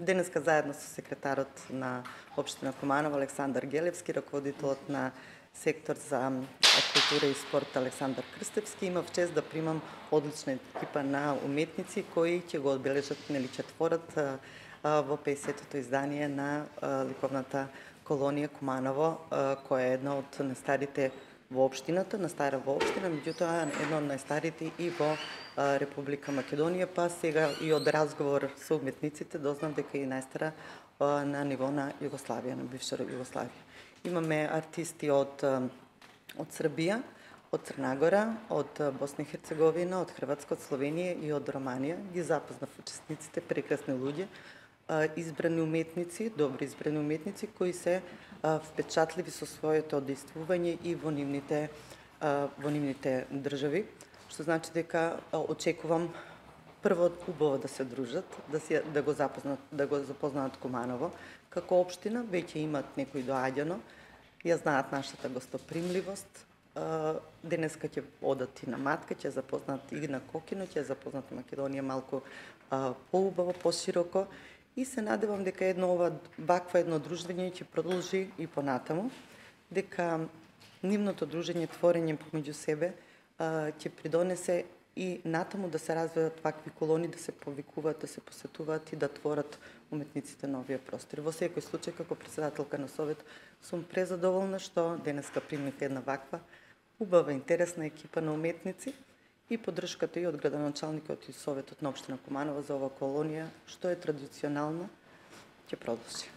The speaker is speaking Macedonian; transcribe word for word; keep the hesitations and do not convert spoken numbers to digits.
денеска заедно со секретарот на Општина Куманово Александар Гелевски, раководителот на сектор за култура и спорт Александар Крстевски, имав чест да примам одлична екипа на уметници кои ќе го одбележат, нели, четворот во пеесетото издание на ликовната колонија Куманово, која е една од најстарите во општината, најстара во општина, меѓутоа една од најстарите и во Република Македонија, па сега и од разговор со уметниците дознав дека е најстара на ниво на Југославија, на бивша Југославија. Имаме артисти од од Србија, од Црна Гора, од Босна и Херцеговина, од Хрватска, од Словенија и од Романија. Ги запознав учесниците, прекрасни луѓе, избрани уметници, добри избрани уметници кои се впечатливи со своето одействување и во нивните во нивните држави, што значи дека очекувам прво убаво да се дружат, да се да го запознат, да го запознаат Куманово како општина, веќе имаат некој доаѓано, ја знаат нашата гостопримливост. Денеска ќе одат и на Матка, ќе запознаат и на Кокино, ќе запознаат Македонија малку поубаво, пошироко. И се надевам дека едно ова вакво едно дружење ќе продолжи и понатаму, дека нивното дружење, творење помеѓу себе ќе придонесе и натаму да се развиваат вакви колони, да се повикуваат, да се посетуваат и да творат уметниците новија простори. Во секој случај, како председателка на Совет, сум презадоволна што денеска примив една ваква убава, интересна екипа на уметници и поддршката и од градоначалникот и Советот на Општина Куманово за ова колонија, што е традиционална, ќе продолжи.